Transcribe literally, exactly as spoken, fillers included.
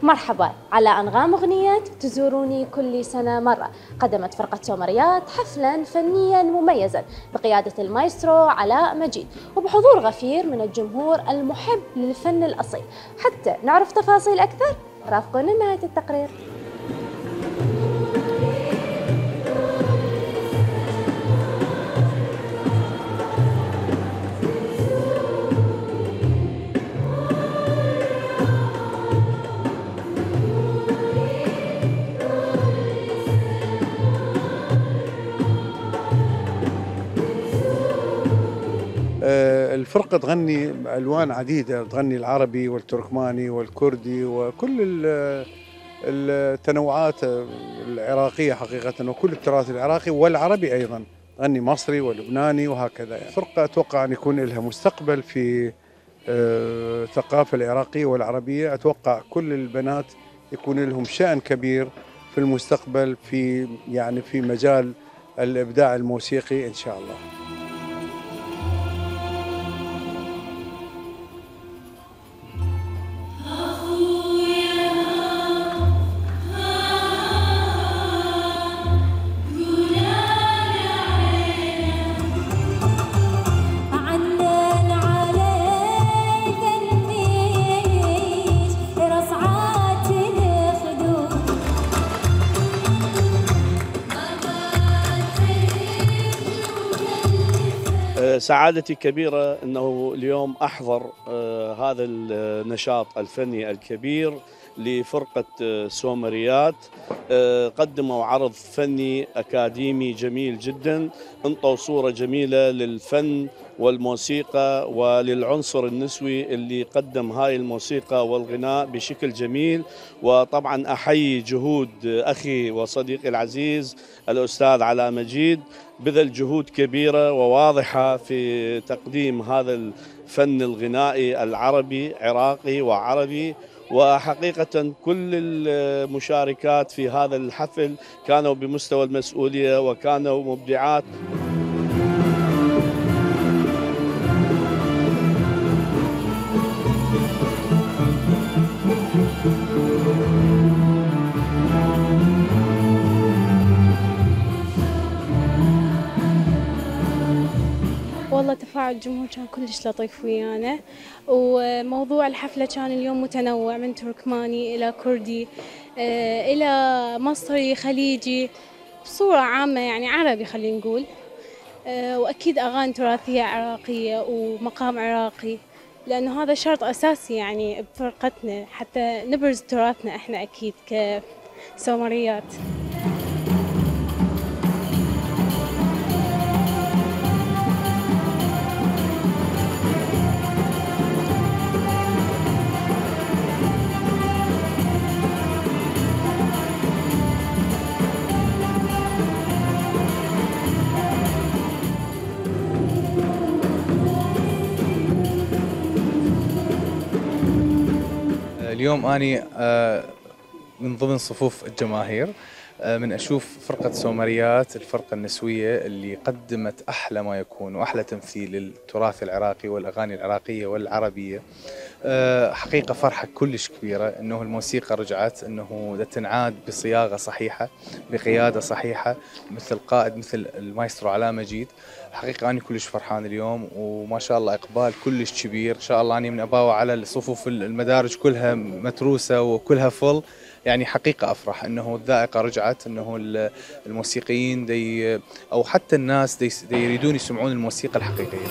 مرحبا، على أنغام أغنيات تزوروني كل سنة مرة. قدمت فرقة سومريات حفلا فنيا مميزا بقيادة المايسترو علاء مجيد وبحضور غفير من الجمهور المحب للفن الأصيل. حتى نعرف تفاصيل أكثر رافقونا لنهاية التقرير. الفرقة تغني ألوان عديدة، تغني العربي والتركماني والكردي وكل التنوعات العراقية حقيقة، وكل التراث العراقي والعربي أيضا، تغني مصري ولبناني وهكذا. الفرقة أتوقع أن يكون لها مستقبل في الثقافة العراقية والعربية. أتوقع كل البنات يكون لهم شأن كبير في المستقبل في يعني في مجال الإبداع الموسيقي إن شاء الله. سعادتي كبيرة أنه اليوم أحضر هذا النشاط الفني الكبير لفرقة سومريات. قدموا عرض فني أكاديمي جميل جدا، انطوا صورة جميلة للفن والموسيقى وللعنصر النسوي اللي قدم هاي الموسيقى والغناء بشكل جميل. وطبعا أحيي جهود أخي وصديقي العزيز الأستاذ علاء مجيد، بذل جهود كبيرة وواضحة في تقديم هذا الفن الغنائي العربي عراقي وعربي. وحقيقة كل المشاركات في هذا الحفل كانوا بمستوى المسؤولية وكانوا مبدعات. والله تفاعل الجمهور كان كلش لطيف ويانا، وموضوع الحفلة كان اليوم متنوع من تركماني إلى كردي إلى مصري خليجي بصورة عامة، يعني عربي خلينا نقول، وأكيد أغاني تراثية عراقية ومقام عراقي، لأنه هذا شرط أساسي يعني بفرقتنا حتى نبرز تراثنا إحنا أكيد كسومريات. اليوم أني من ضمن صفوف الجماهير من أشوف فرقة سومريات، الفرقة النسوية اللي قدمت أحلى ما يكون وأحلى تمثيل للتراث العراقي والأغاني العراقية والعربية. حقيقة فرحة كلش كبيرة أنه الموسيقى رجعت، أنه تنعاد بصياغة صحيحة بقيادة صحيحة مثل قائد مثل المايسترو علاء مجيد. حقيقة أنا كلش فرحان اليوم، وما شاء الله إقبال كلش كبير. إن شاء الله أنا من أباوع على الصفوف المدارج كلها متروسة وكلها فل. يعني حقيقة أفرح أنه الذائقة رجعت، أنه الموسيقيين دي أو حتى الناس دي, دي يريدون يسمعون الموسيقى الحقيقية.